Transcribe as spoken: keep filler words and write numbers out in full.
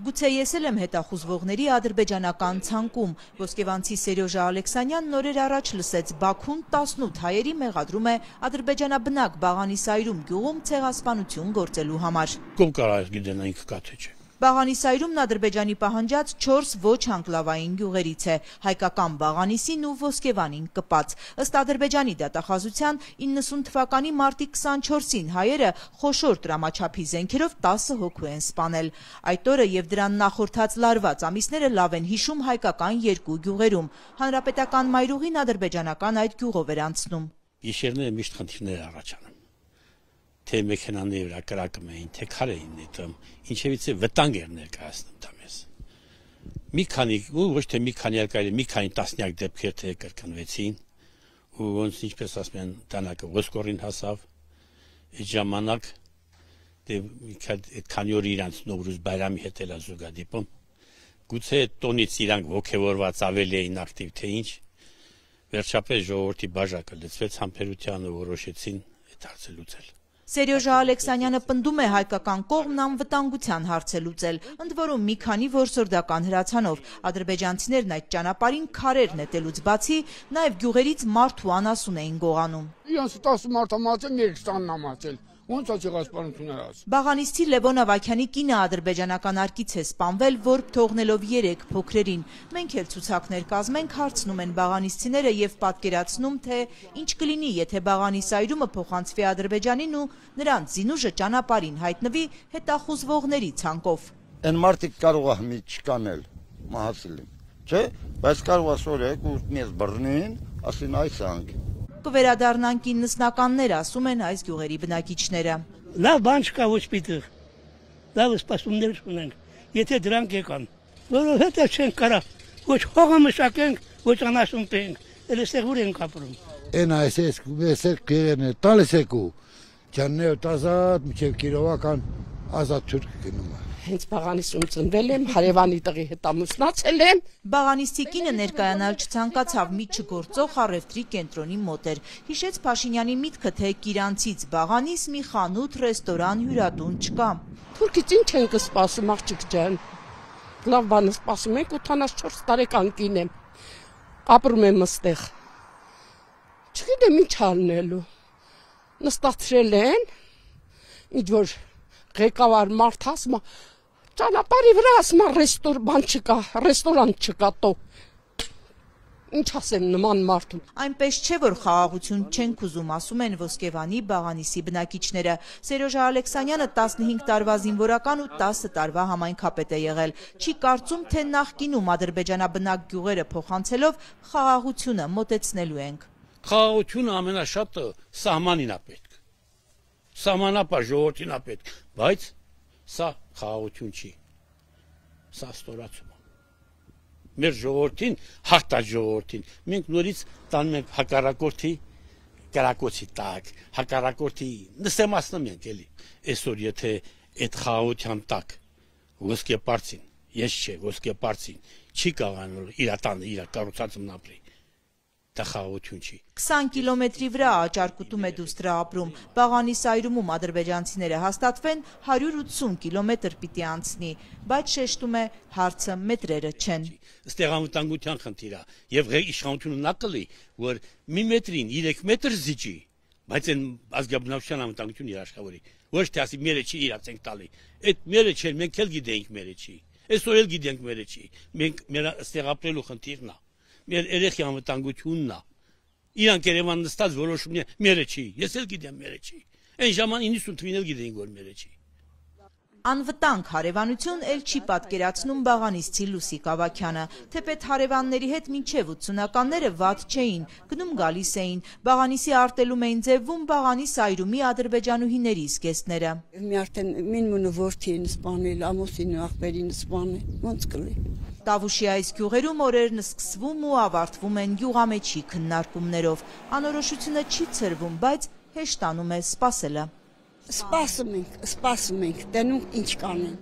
Գուցե ես էլ եմ հետախուզվողների ադրբեջանական ցանկում։ Ոսկեվանցի Սերյոժա Ալեքսանյանն օրեր առաջ լսեց Բաքուն տասնութ հայերի մեղադրում է ադրբեջանաբնակ Բաղանիսայրում գյուղում ցեղասպանություն գործելու համար։ Կոմ կարա գիտեն այն կկաթե չէ։ Բաղանիսայրումն Ադրբեջանի պահանջած չորս ոչ անկլավային գյուղերից է, հայկական Բաղանիսին ու Ոսկեվանին կպած։ Ըստ Ադրբեջանի դատախազության իննսուն թվականի մարտի քսանչորսին հայերը խոշոր տրամաչափի զենքերով տասը հոգու են սպանել։ Այդ օրը եւ դրան նախորդած լարված ամիսները լավ են հիշում հայկական երկու գյուղերում։ Հանրապետական մայրուղին ադրբեջանական այդ գյուղով էր անցնում։ Գիշերները միշտ խնդիրներ առաջանում։ Թե մեքենաների վրա կրակում էին, թե քար էին նետում, ինչևից է վտանգ էր ներկայացնում դա մեզ։ Մի քանի, ու ոչ թե մի քանի արկայել, մի քանի տասնյակ դեպքեր թե կրկնվեցին, ու ոնց ինչպես ասում են, տանակը ոսկորին հասավ, այդ ժամանակ դե այդ քանի օր իրանց Նովրուզ Բայրամի հետ էլ զուգադիպում, գուցե տոնից իրանք ոգևորված ավելի էին ակտիվ, թե ինչ, վերջապես ժողովրդի բաժակը լցվեց համբերությանը, որոշեցին այդ հարցը լուծել։ Սերյոժա Ալեքսանյանը պնդում է հայկական կողմն անվտանգության հարց է լուծել, ընդ որում մի քանի որսորդական հրացանով։ Ադրբեջանցիներն այդ ճանապարհին քարեր նետելուց բացի նաև գյուղերից մարդ ու անասուն էին գողանում։ Իրանց տասը մարդ ամացել, մեկ տանն ամացել։ Ոնց է ցեղասպանություն արած։ Բաղանիստի Լևոն Ավագյանի կինը ադրբեջանական արկից է սպանվել, որ թողնելով երեք փոքրերին։ Մենք էլ ցուցակներ կազմենք, հարցնում են բաղանիստիները եւ պատկերացնում, թե ինչ կլինի, եթե Բաղանիսայրումը փոխանցվի Ադրբեջանին ու նրանց զինուժը ճանապարհին հայտնվի հետախուզվողների ցանկով։ Այն մարդիկ կարող է մի չկանել, մահացել են, չէ՞, բայց կարող է սորեք ու մեզ բռնին, ասին այս անք։ Կվերադառնանք իննսնականներ, ասում են այս գյուղերի բնակիչները։ Լավ բան չկա ոչ պիտեղ, լավ սպասումներ ունենք, եթե դրանք եկան, որովհետև չենք կարա, ոչ հողը մշակենք, ոչ անասուն տենք, էլ էստեղ ուր ենք ապրում։ Են այսես կուվեսեք կերեն է, տալիս եք ու, ճաննեոտ ազատ, մինչև կիրովական ազատ թուրք գնում է։ Հենց Բաղանիսում ծնվել եմ, հարևանի տղի հետ ամուսնացել եմ։ Բաղանիստի կինը ներկայանալ չցանկացավ, մի չգործող առևտրի կենտրոնի մոտ էր։ Հիշեց Փաշինյանի միտքը, թե Կիրանցից Բաղանիս մի խանութ, ռեստորան, հյուրատուն չկա։ Թուրքից ինչ ենք սպասում, աղջիկ ջան։ Լավ բան սպասում ենք, ութանասունչորս տարեկան կին եմ։ Ապրում եմ այստեղ։ Չգիտեմ ինչ անելու։ Նստացրել են, ինչ որ ղեկավար մարդ ասում է, ճանապարհի վրա ասում է ռեստոր բան չկա, ռեստորան չկա տո։ Ինչ ասեմ նման մարդուն։ Այնպես չէ, որ խաղաղություն չենք ուզում, ասում են Ոսկեվանի, Բաղանիսի բնակիչները։ Սերյոժա Ալեքսանյանը տասնհինգ տարվա զինվորական ու տասը տարվա համայնքապետ է եղել։ Չի կարծում, թե նախկինում ադրբեջանաբնակ գյուղերը փոխանցելով խաղաղությունը մոտեցնելու ենք։ Խաղաղությունը ամենաշատը սահմանին է պետք։ Սահմանապար ժողովրդին է պետք, բայց սա խաղաղություն չի, սա ստորացում է։ Մեր ժողովրդին, հաղթած ժողովրդին, մենք նորից տանում ենք հակառակորդի կրակոցի տակ, հակառակորդի նսեմացնում ենք էլի։ Այսօր եթե այդ խաղաղության տակ ոսկեպարծին, ես չէ, ոսկեպարծին չի կարողանալ իր տանը, իր կառուցածն ապրի։ Դա խաղաղություն չի։ քսան կիլոմետրի վրա Աճարկուտում է դուստրը ապրում։ Բաղանիսայրումում ադրբեջանցիները հաստատվեն հարյուր ութսուն կիլոմետր պիտի անցնի, բայց շեշտում է հարցը մետրերը չեն։ Ստեղ անվտանգության խնդիր է, եւ իշխանությունը նա կլի, որ մի մետրին երեք մետր զիջի, բայց այն ազգաբնակության անվտանգություն իր աշխատավորի։ Ոչ թե ասի մերը չի իրացենք տալի։ Այդ մերը չէ, մենք էլ գիտենք մերը չի։ Այսօր էլ գիտենք մերը չի։ Մենք մեր ստեղ ապրելու խնդիրն է։ Մեր երեխի անվտանգությունն է։ Իրանք Երևան նստած որոշում է մերը չի, ես էլ գիտեմ մերը չի։ Այն ժամանակ իննսուն թվին էլ գիտեին որ մերը չի։ Անվտանգ հարևանություն էլ չի պատկերացնում Բաղանիստի Լուսիկ Ավագյանը, թեպետ հարևանների հետ մինչև ութսունականները վատ չէին, գնում գալիս էին, Բաղանիսի արտելում էին ձևվում Բաղանիսայրումի ադրբեջանուհիների զգեստները։ Մի արդեն մինմունը որդին սպանել, ամուսին ու աղբերին սպանել, ոնց կլի։ Տավուշի այս գյուղերում օրերն սկսվում ու ավարտվում են գյուղամեջի քննարկումներով։ Անորոշությունը չի ցրվում, բայց հեշտանում է սպասելը։ Սպասում ենք, սպասում ենք, տենում ինչ կանեն։